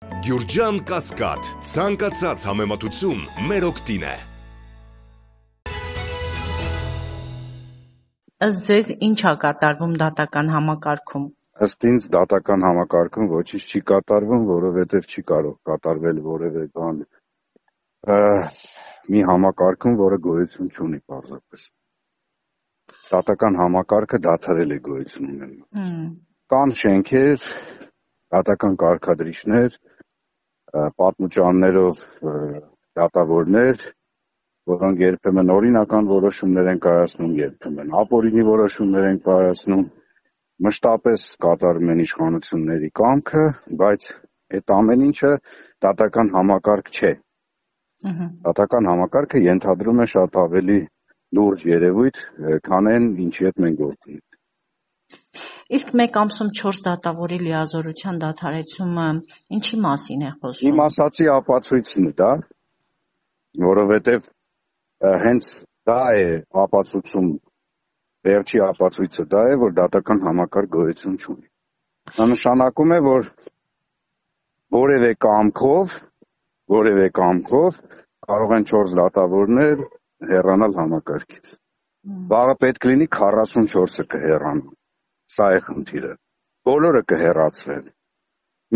Գյուրջան Կասկադ, ցանկացած համեմատություն մեր օգտին է։ Ըստ ձեզ ինչ է կատարվում դատական համակարգում։ Ըստ ինձ դատական համակարգում ոչինչ չի կատարվում, որովհետև չի կարող կատարվել որևէ բան մի համակարգում, որը գոյություն չունի պարզապես։ Դատական համակարգը դադարել է գոյություն ունենալ։ Կան շենքեր, դատական կարգադրիչներ, պատմուճաններով դատավորներ, որոնք երբեմն օրինական որոշումներ են կայացնում, երբեմն ապօրինի որոշումներ են կայացնում, մշտապես կատարում են իշխանությունների կամքը, բայց այդ ամեն ինչը դատական համակարգ չէ։ Դատական համակարգը ենթադրում է շատ ավելի լուրջ երևույթ, քան այն, ինչի հետ մենք գործ ունենք։ Իսկ մեկ ամսում 4 դատավորի լիազորության դադարեցումը ինչի մասին է խոսում։ Իմ ասացի ապացույցն է դա, որովհետև հենց դա է ապացուցում, վերջի ապացույցը դա է, որ դատական համակարգ գոյություն չունի։ Դա նշանակում է, որ որևէ կամքով կարող են 4 դատավորներ հեռանալ համակարգից։ Վաղը պետք լինի 44-ը կհեռանան։ Սա է խնդիրը։ Բոլորը կհեռացվեն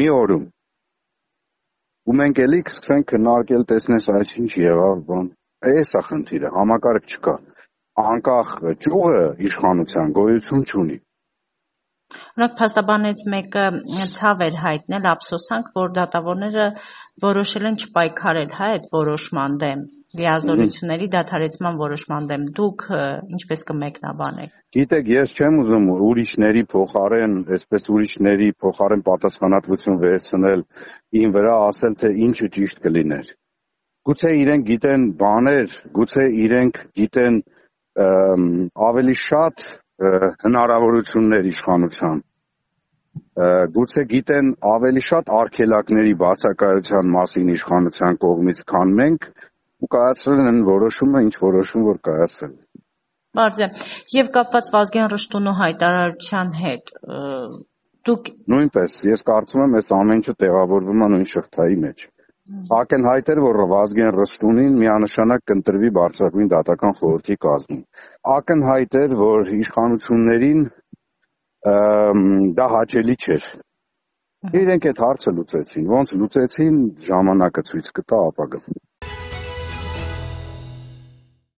մի օրում։ Ու մենք էլի կսկսենք քննարկել, տեսնես ինչ եղավ, բան։ Էս է խնդիրը, համակարգ չկա։ Անկախ ճյուղը իշխանության գոյություն չունի։ Օրինակ փաստաբանից մեկը ցավ էր հայտնել, ափսոսանք, որ դատավորները որոշել են չպայքարել այդ որոշման դեմ, լիազորությունների դադարեցման որոշման դեմ։ Դուք ինչպես կմեկնաբանեք։ Գիտեք, ես չեմ ուզում ուրիշների փոխարեն պատասխանատվություն վերցնել իմ վրա, ասել թե ինչը ճիշտ կլիներ։ Գուցե իրենք գիտեն բաներ, գուցե իրենք գիտեն ավելի շատ հնարավորություններ իշխանության, գուցե գիտեն ավելի շատ արգելակների բացակայության մասին իշխանության կողմից, քան մենք, ու կայացրել են որոշումը, ինչ որոշում որ կայացրել։ Բարձր է։ Եվ կապված Վազգեն Ռշտունու հայտարարության հետ, դուք նույնպես, ես կարծում եմ, այս ամեն ինչը տեղավորվում է նույն շղթայի մեջ։ Ակնհայտ էր, որ Վազգեն Ռշտունին միանշանակ կընտրվի բարձրագույն դատական խորհրդի կազմում։ Ակնհայտ էր, որ իշխանություններին դա հաճելի չէր։ Իրենք այդ հարցը լուծեցին, ոնց լուծեցին, ժամանակը ցույց կտա ապագան։